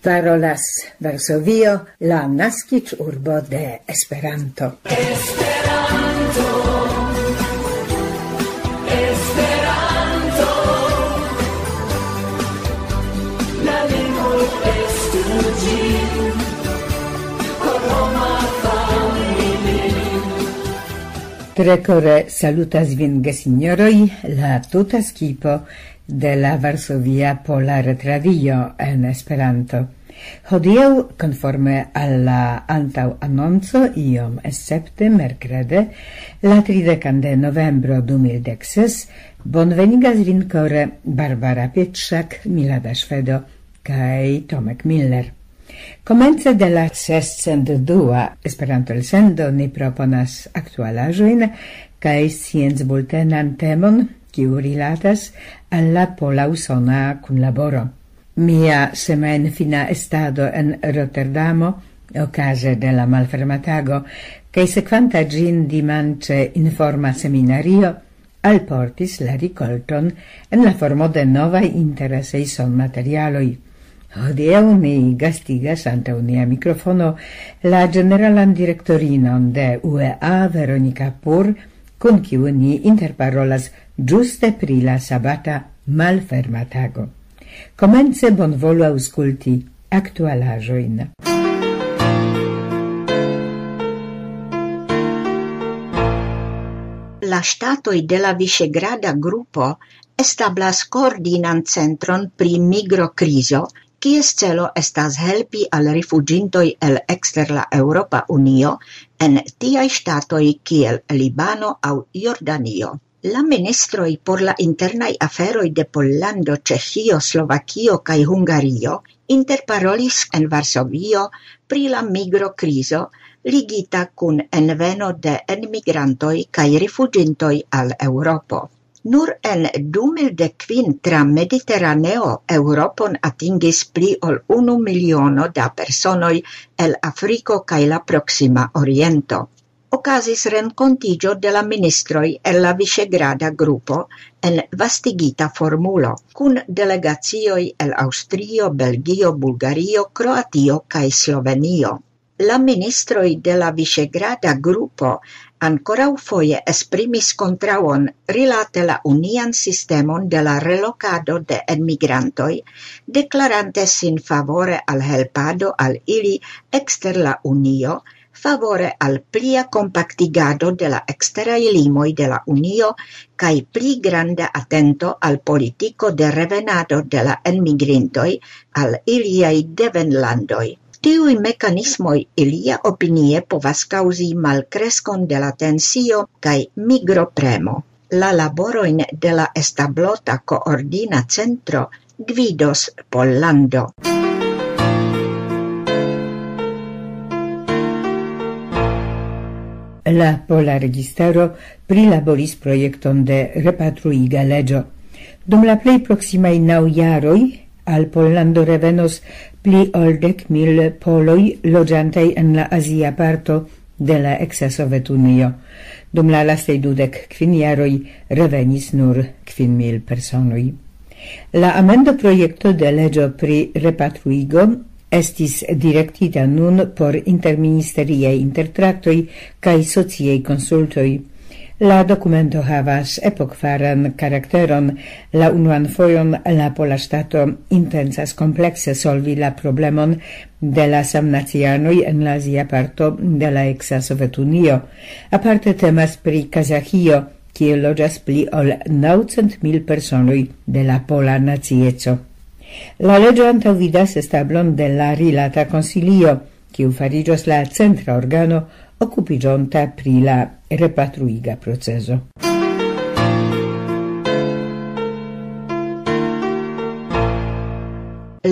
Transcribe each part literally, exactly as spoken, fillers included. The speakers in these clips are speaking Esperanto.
Parolas Varsovio, la naskiĝurbo de Esperanto. Esperanto, Esperanto, la lingvo estu ĝin, por homa familio. Tre kore salutas vin, gesinjoroj, la tuta skipo de la Varsovia Pola Retradio en Esperanto. Hodiaŭ, konforme al la antaŭanonco, iom escepte merkrede, la tridekan de novembro du mil dek ses, bonvenigas vin kore Barbara Pietrzak, Milada Ŝvedo kaj Tomek Miller. Komence de la sescent dua Esperanto-elsendo ni proponas aktualaĵojn kaj sciencbultenan temon, kiu rilatas al la pola-usona kunlaboro. Mia semajnfina estado en Rotterdamo okaze de la malferma tago kaj sekvanta ĝin dimanĉe informa seminario alportis la rikolton en la formo de novaj interesaj sonmaterialoj. Hodiaŭ ni gastigas antaŭ nia mikrofono la ĝeneralan direktorinon de U E A, Veronika Pur, kun kiu ni interparolas ĝuste pri la sabata malferma tago. Komence bonvolu aŭskulti aktualaĵojn. La ŝtatoj de la Viŝegrada grupo establas koordinan centron pri migrokrizo, kies celo estas helpi al rifuĝintoj el ekster la Eŭropa Unio en tiaj ŝtatoj kiel Libano aŭ Jordanio. La ministroj por la internaj aferoj de Pollando, Ĉeĥio, Slovakio kaj Hungario interparolis en Varsovio pri la migrokrizo ligita kun enveno de enmigrantoj kaj rifuĝintoj al Eŭropo. Nur en du mil dek kvin tra Mediteraneo Eŭropon atingis pli ol unu miliono da personoj el Afriko kaj la Proksima Oriento. Okazis renkontiĝo de la ministroj el la Viŝegrada grupo en vastigita formulo, kun delegacioj el Aŭstrio, Belgio, Bulgario, Kroatio kaj Slovenio. La ministroj de la Viŝegrada grupo ankoraŭfoje esprimis kontraŭon rilate la unian sistemon de la relokado de enmigrantoj, deklarante sin favore al helpado al ili ekster la Unio, favore al plia kompaktigado de la eksteraj limoj de la Unio kaj pli granda atento al politiko de revenado de la enmigrintoj al iliaj devenlandoj. Tiuj mekanismoj, ilia opinie, povas kaŭzi malkreskon de la tensio kaj migropremo. La laborojn de la establota koordina centro gvidos Pollando. La pola registaro prilaboris projekton de repatruiga leĝo. Dum la plej proksimaj naŭ jaroj al Pollando revenos pli ol dek mil poloj loĝantaj en la azia parto de la eksa Sovetunio. Dum la lastaj dudek kvin jaroj revenis nur kvin mil personoj. La amendoprojekto de leĝo pri repatruigo estis direktita nun por interministeriaj intertraktoj kaj sociaj konsultoj. La dokumento havas epokfaran karakteron. La unuan fojon la pola ŝtato intencas komplekse solvi la problemon de la samnacianoj en la azia parto de la eksa Sovetunio. Aparte temas pri Kazaĥio, kie loĝas pli ol naŭcent mil personoj de la pola nacieco. La leĝo antaŭvidas establon de la rilata konsilio, kiu fariĝos la centra organo okupiĝonta pri la repatruiga procezo.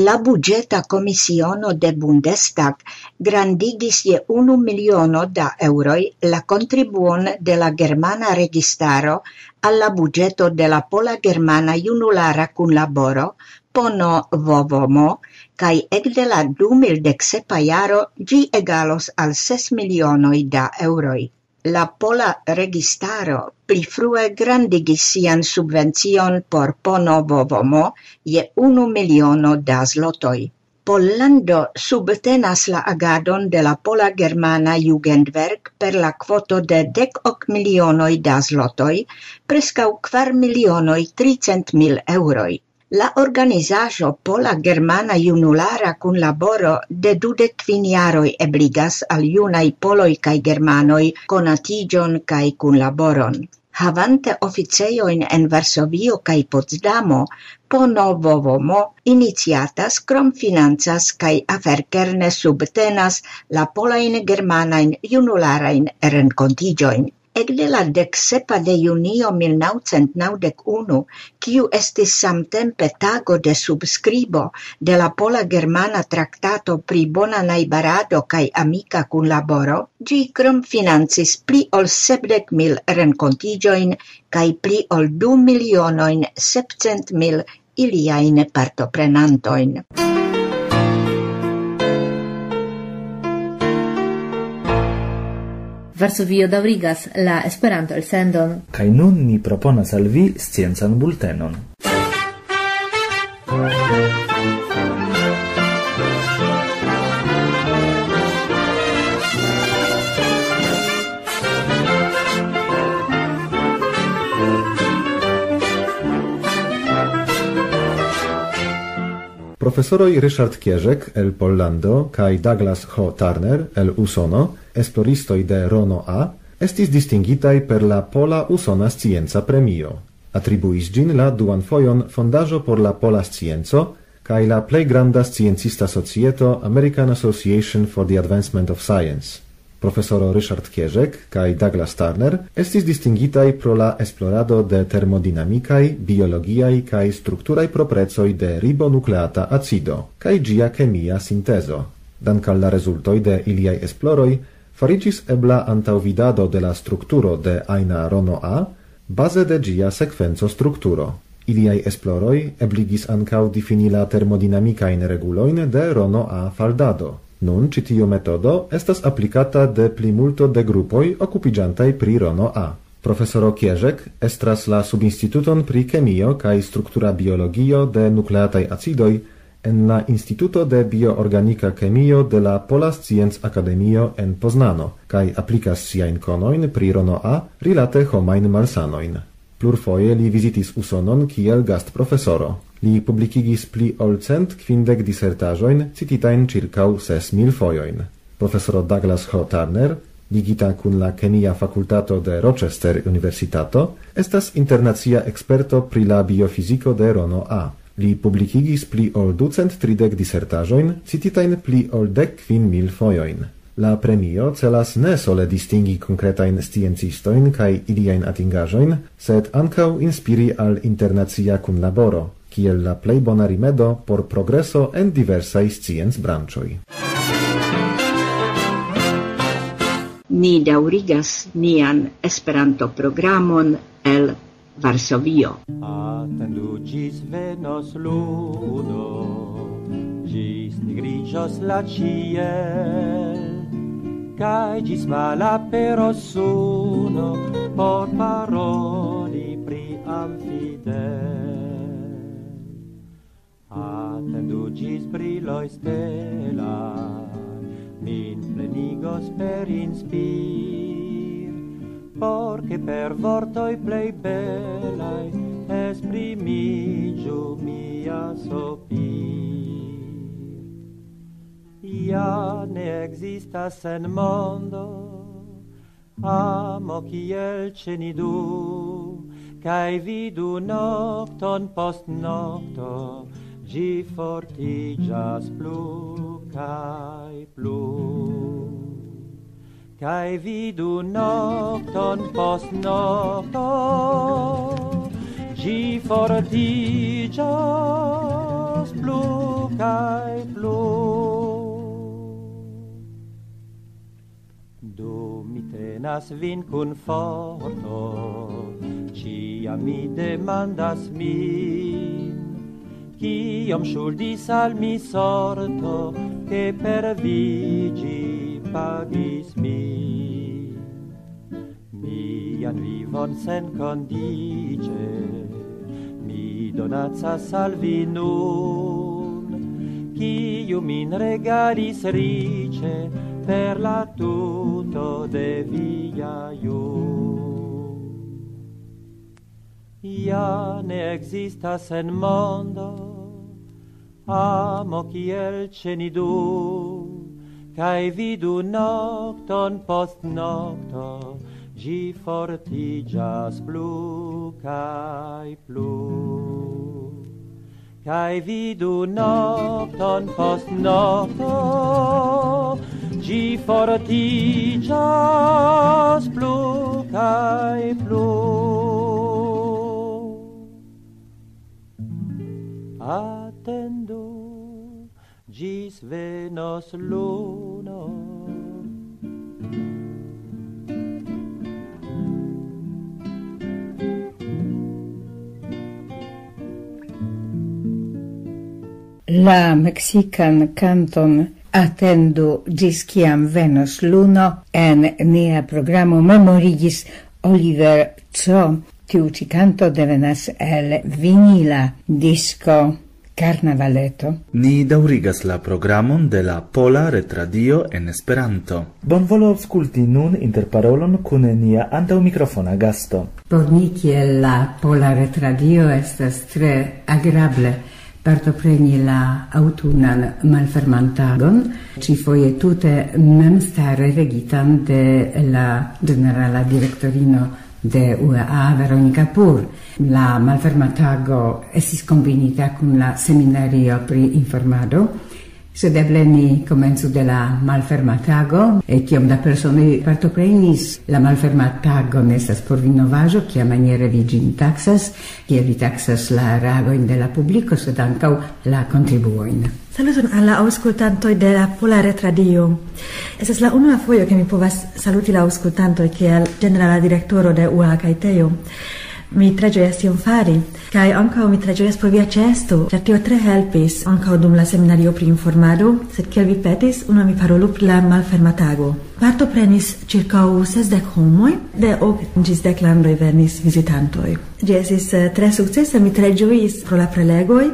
La buĝeta komisiono de Bundestag grandigis je unu miliono da eŭroj la kontribuon de la germana registaro al la buĝeto de la pola-germana junulara kunlaboro Pono Vovomo, kaj ekde la du mil dek sepa jaro ĝi egalos al ses milionoj da eŭroj. La pola registaro pli frue grandigis sian subvencion por Pono Vovomo je unu miliono da zlotoj. Pollando subtenas la agadon de la Pola Germana Jugendwerk per la kvoto de dek ok milionoj da zlotoj, preskaŭ kvar milionoj tricent mil eŭroj. La organizaĵo Pola Germana Junulara Kunlaboro de dudek kvin jaroj ebligas al junaj poloj kaj germanoj konatiĝon kaj kunlaboron. Havante oficejojn en Varsovio kaj Potsdamo, Pono Vovomo iniciatas krom financas kaj aferkerne subtenas la polajn germanajn junularajn renkontiĝojn. Ekde la dek sepa de junio mil naŭcent naŭdek unu, kiu estis samtempe tago de subskribo de la Pola-Germana Traktato pri bona najbarado kaj amika kunlaboro, ĝi krom financis pli ol sepdek mil renkontiĝojn kaj pli ol du milionojn sepcent mil iliajn partoprenantojn. Varsovio daŭrigas la Esperanto-elsendon. Kaj nun ni proponas al vi sciencan bultenon. Profesoroj Richard Kierzek el Pollando kaj Douglas H. Turner el Usono, esploristoj de Rono A, estis distingitaj per la Pola Usona Scienca Premio. Atribuis ĝin la duan fojon Fondaĵo por la Pola Scienco kaj la plej granda sciencista societo American Association for the Advancement of Science. Profesoro Richard Kierzek kaj Douglas Turner estis distingitaj pro la esplorado de termodinamikaj, biologiaj kaj strukturaj proprecoj de ribonukleata acido kaj ĝia kemia sintezo. Dankal la rezultoj de iliaj esploroj, fariĝis ebla antaŭvidado de la strukturo de ajna Rono A baze de ĝia sekvenco strukturo. Iliaj esploroj ebligis ankaŭ difini la termodinamikajn regulojn de Rono A faldado. Nun ĉi tiu metodo estas aplikata de plimulto de grupoj okupiĝantaj pri Rono A. Profesoro Kierzek estras la subinstituton pri kemio kaj struktura biologio de nukleataj acidoj en la Instituto de Bioorganika Kemio de la Pola Scienc-Akademio en Poznano kaj aplikas siajn konojn pri Rono A rilate homajn malsanojn. Plurfoje li vizitis Usonon kiel gastprofesoro. Li publikigis pli ol cent kvindek disertaĵojn cititajn ĉirkaŭ ses mil fojojn. Profesoro Douglas H. Turner, ligita kun la Kemia Fakultato de Rochester Universitato, estas internacia eksperto pri la biofiziko de Rono A. Li publikigis pli ol ducent tridek disertaĵojn cititajn pli ol dek kvin mil fojojn. La premio celas ne sole distingi konkretajn sciencistojn kaj iliajn atingaĵojn, sed ankaŭ inspiri al internacia kunlaboro, kiel la plej bona rimedo por progreso en diversaj sciencbranĉoj. Ni daŭrigas nian Esperanto-programon el Varsovio. Atendu ĝis venos ludo, ĝis nigriĝos la ĉiel, kaj ĝis malaperos suno por paroli pri Amfidel. Atendu ĝis briloj stelaj min plenigos per inspir, por ke per vortoj plej belaj esprimiĝu mia sopir. Ja ne ekzistas en mondo amo kiel ĉe ni du, kaj vidu nokton post nokto, ĝi fortiĝas plu kaj plu. Kaj vidu nokton post nokto, ĝi fortiĝas plu kaj plu. Do mi tenas vin kun forto, ĉiam mi demandas min, kiom ŝuldis al mi sorto, ke per vi ĝi pagis min. Mian vivon senkondiĉe mi donacas al vi nun, Iu min regalis riĉe per la tuto de via ju. Ja ne existas en mondo amo kiel ce ni du, kaj vidu nokton post nokto, ĝi fortiĝas plu kaj plu. Kaj vidu nokton post nokto, ĝi fortiĝas plu kaj plu. Atendu, ĝis venos luno. La meksikan kanton Atendu ĝis kiam venos luno en nia programo memorigis Oliver Co. Tiu ĉi kanto devenas el vinila disko Karnavaleto. Ni daŭrigas la programon de la Pola Retradio en Esperanto. Bonvolu aŭskulti nun interparolon kun nia antaŭmikrofona gasto. Por ni kiel la Pola Retradio estas tre agrable partopreni la aŭtunan malfermantagon, ĉifoje tute memstare regitan de la ĝenerala direktorino de U A A, Veronika Pur. La malferma tago estis kombinita kun la seminario pri informado, sed eble ni komencu de la malferma tago, e kiom da personoj partoprenis. La malferma tago ne estas por vi novaĵo, kiamaniere vi ĝin taksas, kiel vi taksas la reagojn de la publiko, sed ankaŭ la kontribuojn. Saluton al la aŭskultantoj de la Pola Retradio. Estas la unua fojo, ke mi povas saluti la aŭskultantoj kiel ĝenerala direktoro de U A A kaj Tejo. Mi tre ĝojas tion fari, kaj ankaŭ mi tre ĝojas pro via ĉeesto, ĉar tio tre helpis ankaŭ dum la seminario pri informado, sed kiel vi petis, unue mi parolu pri la malferma tago. Partoprenis ĉirkaŭ sesdek homoj, de ok ĝis dek landoj venis vizitantoj. Ĝi estis, eh, tre sukcesa, mi tre ĝojis pro la prelegoj,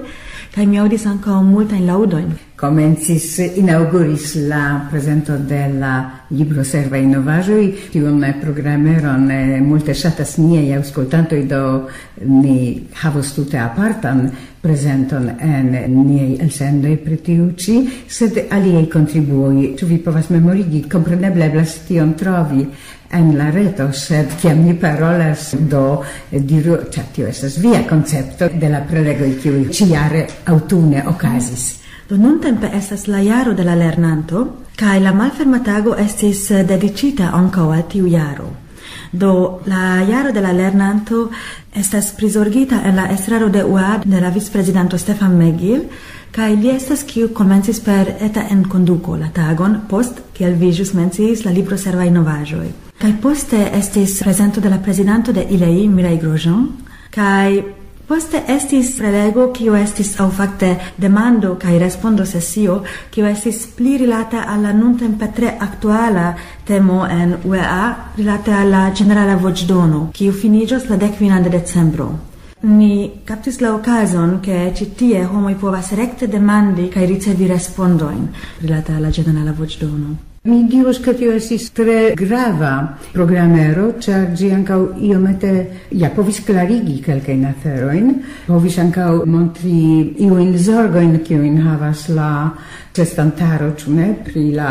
kaj mi aŭdis ankaŭ multajn laŭdojn. Komencis, inaŭguris la prezento de la libroservaj novaĵoj. Tiun programeron, eh, multe ŝatas niaj aŭskultantoj, do ni havos tute apartan prezenton en niaj elsendoj pri tiu ĉi, sed aliaj kontribuoj. Ĉu vi povas memorigi? Kompreneble eblas tion trovi en la reto, sed kiam ni parolas, do diru, ĉar tio estas via koncepto de la prelegoj, kiuj ĉijare aŭtune okazis. Do nuntempe estas la jaro de la lernanto, kaj la malferma tago estis, eh, dediĉita ankaŭ al tiu jaro. Do la jaro de la lernanto estas prizorgita en la estraro de U A A de la vicprezidanto Stefan Megil, kaj li estas kiu komencis per eta enkonduko la tagon post, kiel vi ĵus menciis, la libroservaj novaĵoj. Kaj poste estis prezento de la prezidanto de I L E I, Mireille Grosjean, kaj poste estis prelego, kio estis, aŭ fakte demando kaj respondo sesio, kio estis pli rilata al la nuntempe tre aktuala temo en U A A, rilate al la ĝenerala voĉdono, kiu finiĝos la dek kvinan de decembro. Ni kaptis la okazon, ke ĉi tie homoj povas rekte demandi kaj ricevi respondojn rilate al la ĝenerala voĉdono. Mi dirus, ke tio estis tre grava programero, ĉar ĝi ankaŭ iomete, ja, povis klarigi kelkajn aferojn, povis ankaŭ montri iujn zorgojn, kiujn havas la ĉeestantaro, ĉu ne, pri la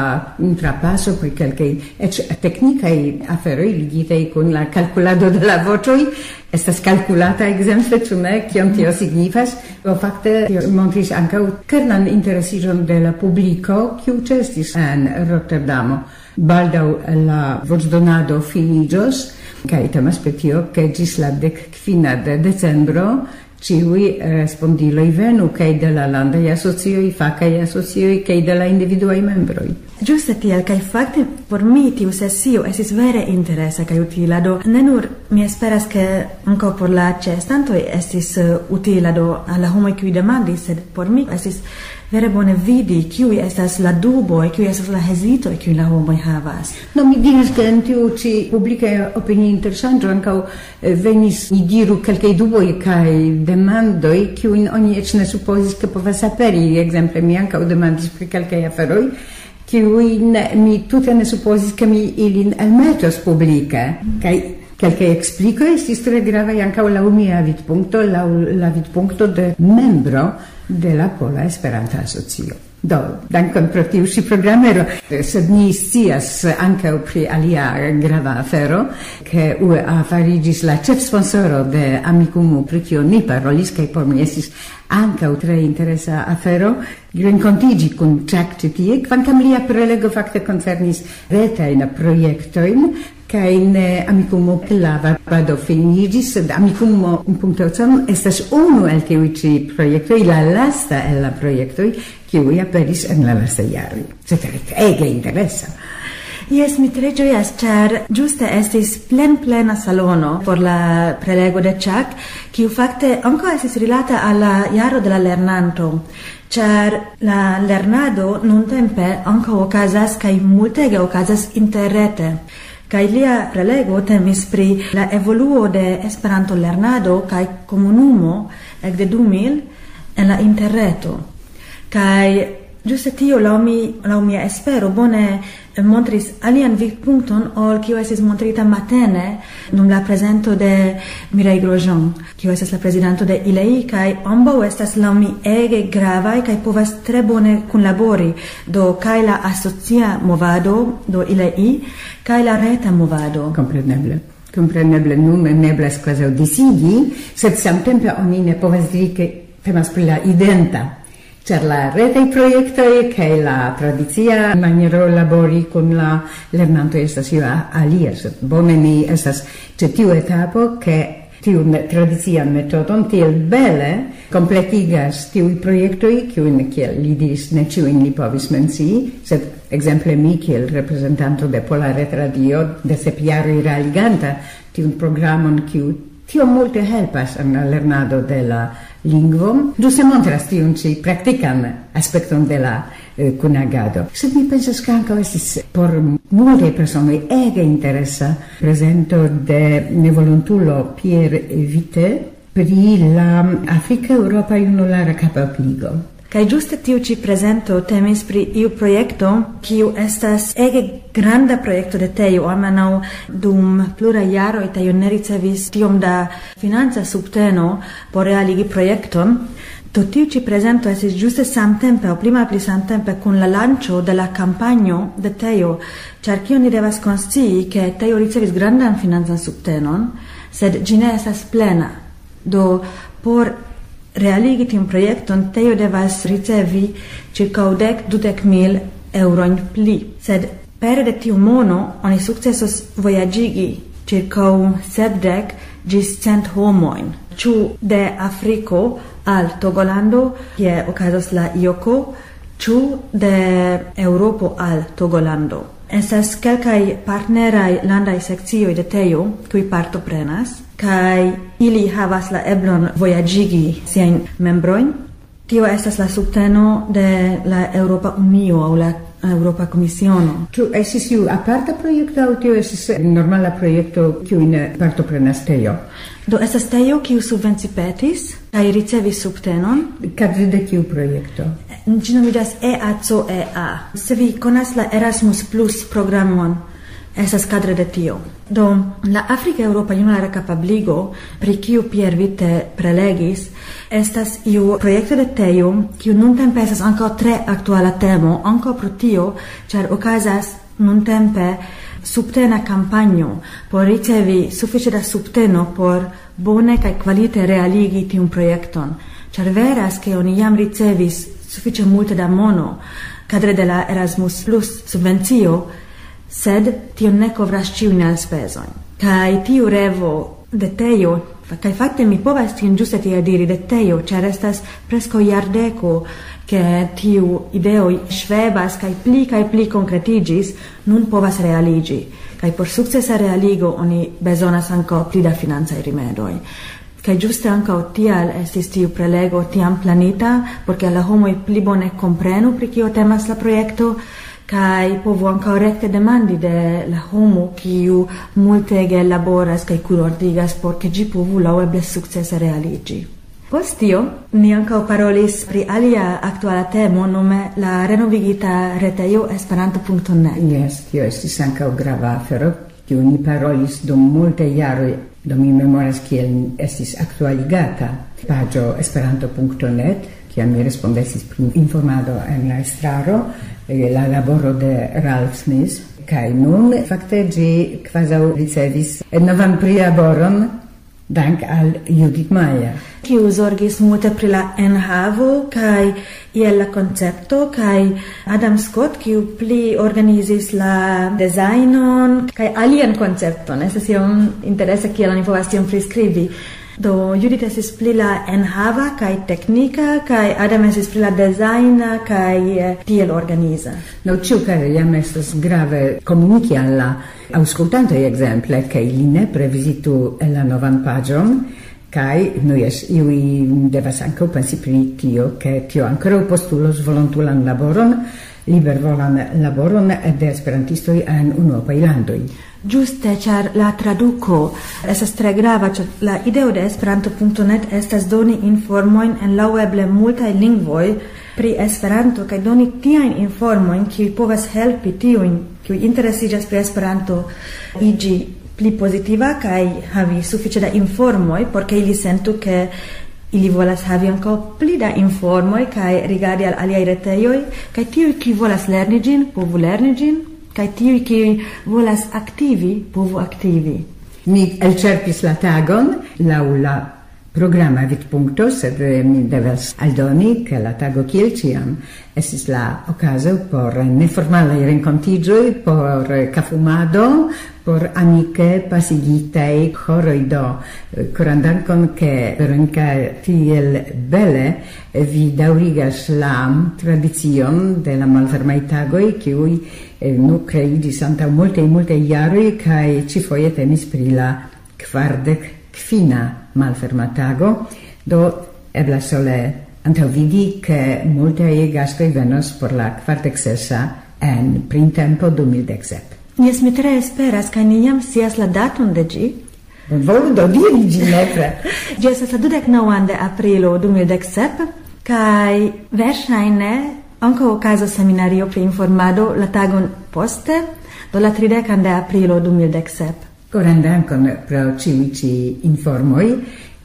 trapaso, pri kelkaj eĉ teknikaj aferoj ligitaj kun la kalkulado de la voĉoj. Estas kalkulata ekzemple, ĉu ne, kion tio signifas. Do fakte tio montris ankaŭ kernan interesiĝon de la publiko, kiu ĉeestis en Rotterdamo. Baldaŭ la voĉdonado finiĝos, kaj temas pri tio, ke ĝis la dek kvina de decembro ĉiuj respondiloj venu, kaj de la landaj asocioj, fakaj asocioj, kaj de la individuaj membroj. Ĝuste tiel, kaj fakte por mi tiu sesio estis vere interesa kaj utila. Do ne nur mi esperas, ke ankaŭ por la ĉeestantoj estis, eh, utila, do al la homoj, kiuj demandis, sed por mi estis Vere bone vidi, kiuj estas la duboj, kiuj estas la hezitoj, kiuj la homoj havas. No, mi diras, ke en tiu ĉi publika opinia interŝanĝo ankaŭ eh, venis, ni diru, kelkaj duboj kaj demandoj, kiujn oni eĉ ne supozis, ke povas aperi. Ekzemple, mi ankaŭ demandis pri kelkaj aferoj, kiujn mi tute ne supozis, ke mi ilin elmetos publike. Kaj kelkaj eksplikoj estis tre gravaj ankaŭ laŭ mia vidpunkto, laŭ la vidpunkto de membro de la Pola Esperanta Asocio. Do, dankon pro tiu ĉi programero. Sed ni scias ankaŭ pri alia grava afero, ke U E A fariĝis la ĉefsponsoro de Amikumu, pri kio ni parolis, kaj por mi estis ankaŭ tre interesa afero renkontiĝi kun Chuck ĉi tie, kvankam lia prelego fakte koncernis retajn projektojn, kaj ne Amikumu, la varbado finiĝis, sed Amikumu punkto com estas unu el tiuj ĉi projektoj, la lasta el la projektoj, kiuj aperis en la lastaj jaroj. Sed ege interesa. Jes, mi tre ĝojas, ĉar ĝuste estis plenplena salono por la prelego de Chuck, kiu fakte ankaŭ estis rilata al la jaro de la lernanto, ĉar la lernado nuntempe ankaŭ okazas kaj multege okazas interrete. Kaj lia prelego temis pri la evoluo de Esperanto-lernado kaj komunumo ekde du mil en la interreto. Kaj ĝuste tio, laŭ mi, laŭ mia espero, bone montris alian vidpunkton ol kio estis montrita matene dum la prezento de Mireille Grosjean, kio estas la prezidanto de I L E I, kaj ambaŭ estas laŭ mi ege gravaj kaj povas tre bone kunlabori, do kaj la asocia movado, do I L E I, kaj la reta movado. Kompreneble. Kompreneble nun ne eblas kvazaŭ disigi, sed samtempe oni ne povas diri, ke temas pri la identa, ĉar la retaj projektoj kaj la tradicia maniero labori kun la lernantoj estas io a-, alia, sed bone ni estas ĉe tiu etapo, ke tiun tradician metodon tiel bele kompletigas tiuj projektoj, kiujn, kiel li diris, ne ĉiujn li povis mencii, sed ekzemple mi, kiel reprezentanto de Pola Retradio, de sep jaroj realiganta tiun programon, kiu tiom multe helpas en la lernado de la lingvo, ĝuste montras tiun ĉi praktikan aspekton de la, eh, kunagado. Sed mi pensas, ke ankaŭ estis por multaj personoj ege interesa prezento de nevolontulo Pierre Vite pri la Afrika Eŭropa Junulara Kapabligo. Kaj ĝuste tiu ĉi prezento temis pri iu projekto, kiu estas ege granda projekto de Tejo, almenaŭ dum pluraj jaroj Tejo ne ricevis tiom da financa subteno por realigi projekton. Do tiu ĉi prezento estis ĝuste samtempe, aŭ pli malpli samtempe, kun la lanĉo de la kampanjo de Tejo, ĉar kion ni devas konscii, ke Tejo ricevis grandan financan subtenon, sed ĝi ne estas plena. Do, por realigi tiun projekton, Tejo devas ricevi ĉirkaŭ dek, dudek mil eŭrojn pli. Sed pere de tiu mono oni sukcesos vojaĝigi ĉirkaŭ sepdek ĝis cent homojn, ĉu de Afriko al Togolando, kie okazos la joko, ĉu de Eŭropo al Togolando. Estas kelkaj partneraj landaj sekcioj de Tejo, kiuj partoprenas, kaj ili havas la eblon vojaĝigi siajn membrojn. Tio estas la subteno de la Eŭropa Unio aŭ la Eŭropa Komisiono. Ĉu estis iu aparta projekto aŭ tio estis normala projekto, kiujn partoprenas Tejo? Do estas Tejo, kiu subvencipetis kaj ricevis subtenon. Kadre de kiu projekto? Ĝi nomiĝas E A C E A. Se vi konas la Erasmus Plus programon, estas kadre de tio. Do, la Afrika Eŭropa Junulara Kapabligo, pri kiu Pierre Vite prelegis, estas iu projekto de Tejo, kiu nuntempe estas ankaŭ tre aktuala temo, ankaŭ pro tio, ĉar okazas nuntempe subtena kampanjo por ricevi sufiĉe da subteno por bone kaj kvalite realigi tiun projekton, ĉar veras, ke oni jam ricevis sufiĉe multe da mono kadre de la Erasmus Plus subvencio, sed tio ne kovras ĉiujn elspezojn. Kaj tiu revo de Tejo, kaj fakte mi povas tion ĝuste tiel diri, de Tejo, ĉar estas preskaŭ jardeko, ke tiu ideoj ŝvebas kaj pli kaj pli konkretiĝis, nun povas realiĝi. Kaj por sukcesa realigo oni bezonas ankaŭ pli da financaj rimedoj. Kaj ĝuste ankaŭ tial estis tiu prelego tiam planita, por ke la homoj pli bone komprenu, pri kio temas la projekto, kaj povu ankaŭ rekte demandi de la homo, kiu multege laboras kaj kunordigas, por ke ĝi povu laŭeble sukcese realiĝi. Post tio, ni ankaŭ parolis pri alia aktuala temo, nome la renovigita retejo esperanto punkto net. Jes, tio estis ankaŭ grava afero, kiu ni parolis dum multaj jaroj. Do mi memoras, kiel estis aktualigata paĝo esperanto punkto net, kiam mi respondecis pri informado en la estraro, eh, la laboro de Ralph Smith. Kaj nun, fakte, ĝi kvazaŭ ricevis novan prilaboron, dank al Judith Mayer, kiu zorgis multe pri la enhavo kaj iel la koncepto, kaj Adam Scott, kiu pli organizis la dezajnon, kaj alian koncepton. Estas iom interese, kiel oni povas tion priskribi. Do, Judith estis pli la enhava kaj teknika, kaj Adam estis pli la dezajna kaj, eh, tiel organiza. No, ĉiukaze jam estas grave komuniki al la aŭskultantoj, ekzemple, ke ili nepre vizitu la novan paĝon, kaj, nu jes, iuj devas ankaŭ pensi pri tio, ke tio ankoraŭ postulos volontulan laboron, libervolan laboron de esperantistoj en unuopaj landoj. Ĝuste, ĉar la traduko estas tre grava, ĉar la ideo de esperanto punkto net estas doni informojn en laŭeble multaj lingvoj pri Esperanto, kaj doni tiajn informojn, kiuj povas helpi tiujn, kiuj interesiĝas pri Esperanto, iĝi pli pozitiva kaj havi sufiĉe da informoj, por ke ili sentu, ke ili volas havi ankaŭ pli da informoj kaj rigardi al aliaj retejoj, kaj tiuj, kiuj volas lerni ĝin, povu lerni ĝin, kaj tiuj, kiuj volas aktivi, povu aktivi. Ni elĉerpis la tagon laŭ la programa vidpunkto, sed, eh, mi devas aldoni, ke la tago, kiel ĉiam, estis la okazo por neformalaj renkontiĝoj, por, eh, kafumado, por amike pasigitaj horoj. Do, eh, koran dankon, ke Veronika tiel bele, eh, vi daŭrigas la tradicion de la malfermaj tagoj, kiuj, eh, nu, kreiĝis antaŭ multaj, multaj jaroj, kaj ĉifoje temis pri la kvardek kvina malferma tago. Do, eblas sole antaŭvidi, ke multaj gastoj venos por la kvardek sesa en printempo du mil dek sep. Jes, mi tre esperas, kaj ni jam scias la daton de ĝi. Bonvolu do diri ĝi nepre. Ĝi estas la dudek naŭan de aprilo du mil dek sep, kaj verŝajne ankaŭ okazos seminario pri informado la tagon poste, do la tridekan de aprilo du mil dek sep. Koran dankon pro ĉiuj ĉi informoj,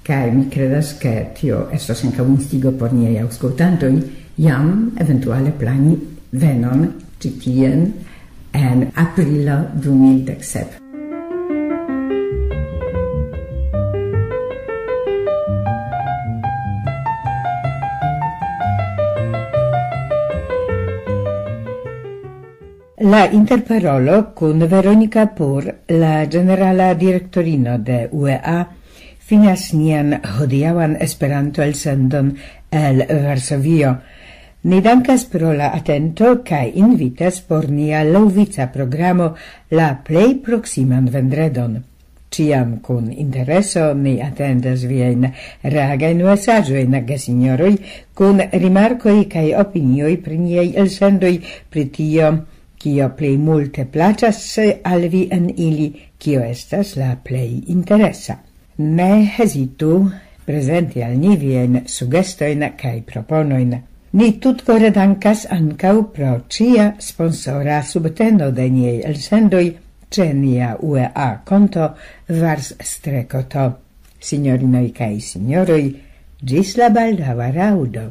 kaj mi kredas, ke tio estos ankaŭ instigo por niaj aŭskultantoj, jam eventuale plani venon ĉi tien en aprilo du mil dek sep. La interparolo kun Veronika Pur, la ĝenerala direktorino de U E A, finas nian hodiaŭan Esperanto-elsendon el Varsovio. Ni dankas pro la atento kaj invitas por nia laŭvica programo la plej proksiman vendredon. Ĉiam kun intereso ni atendas viajn reagajn mesaĝojn, gesinjoroj, kun rimarkoj kaj opinioj pri niaj elsendoj, pri tio, kio plej multe plaĉas al vi en ili, kio estas la plej interesa. Ne hezitu prezenti al ni viajn sugestojn kaj proponojn. Ni tutkore dankas ankaŭ pro ĉia sponsora subteno de niaj elsendoj ĉe nia U E A konto Vars Strekoto. Sinjorinoj kaj sinjoroj, ĝis la baldaŭa raŭdo.